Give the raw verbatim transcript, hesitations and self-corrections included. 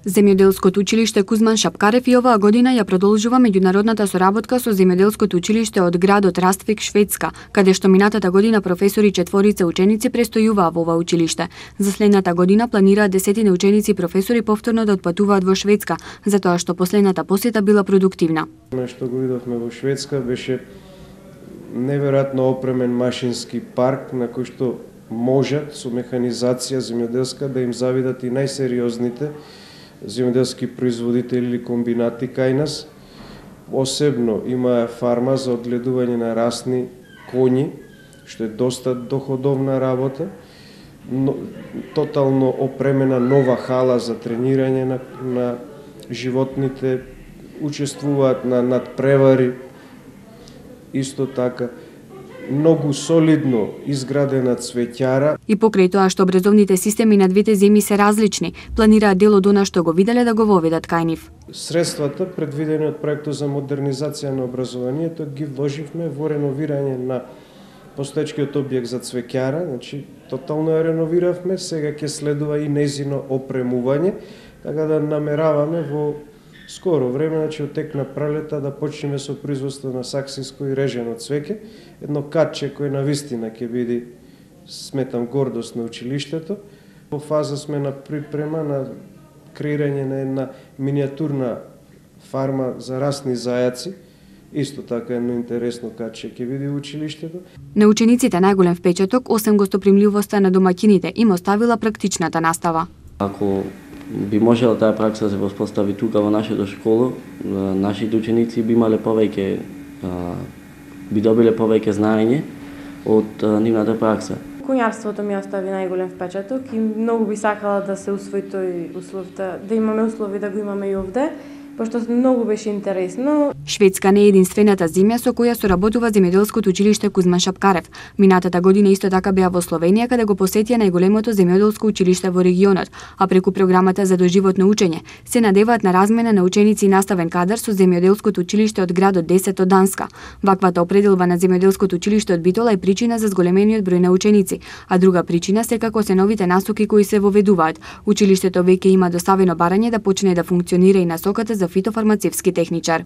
Земјоделското училиште Кузман Шапкарев и оваа година ја продолжува меѓународната соработка со Земјоделското училиште од градот Раствик, Шведска, каде што минатата година професори четворица ученици престојуваа во ова училиште. За следната година планираат десетина ученици и професори повторно да отпатуваат во Шведска, затоа што последната посета била продуктивна. Што го видовме во Шведска беше неверојатно опремен машински парк на кој што можат со механизација земјоделска да им завидат и најсериозните земјоделски производители или комбинати кај нас. Посебно има фарма за одгледување на расни коњи, што е доста доходовна работа. Но, тотално опремена нова хала за тренирање на, на животните, учествуваат на надпревари. Исто така многу солидно изградена цвеќара. И покрај тоа што образовните системи на двете земји се различни, планираат дел од она што го виделе да го воведат кај нив. Средствата предвидени од проектот за модернизација на образованието ги вложивме во реновирање на постоечкиот објект за цвеќара, значи тотално ја реновиравме, сега ќе следува и нејзино опремување, така да намераваме во скоро време, значи од тек на пролета, да почнеме со производство на саксинско и режено цвеќе, едно катче кој навистина ќе биде, сметам, гордост на училиштето. Во фаза сме на припрема на креирање на една миниатурна фарма за расни зајаци. Исто така едно интересно катче ќе биде училиштето. На учениците најголем впечаток, осем гостопримливоста на домаќините, им оставила практичната настава. Ако би можела таа пракса да се воспостави тука во нашето школо, нашите ученици би имале повеќе, би добиле повеќе знаење од нивната пракса. Конјарството ми остави најголем впечаток и многу би сакала да се усвои тој услов, да, да имаме услови да го имаме и овде, пошто многу беше интересно. Шведска не е единствената земја со која соработува Земјоделското училиште Кузман Шапкарев. Минатата година исто така беа во Словенија, каде го посетија најголемото земјоделско училиште во регионот, а преку програмата за доживотно учење се надеваат на размена на ученици и наставен кадар со Земјоделското училиште од градот десет од Данска. Ваквата определба на Земјоделското училиште од Битола е причина за зголемениот број на ученици, а друга причина секако се новите насоки кои се воведуваат. Училиштето веќе има доставено барање да почне да функционира и насоката за фитофармацевски техничар.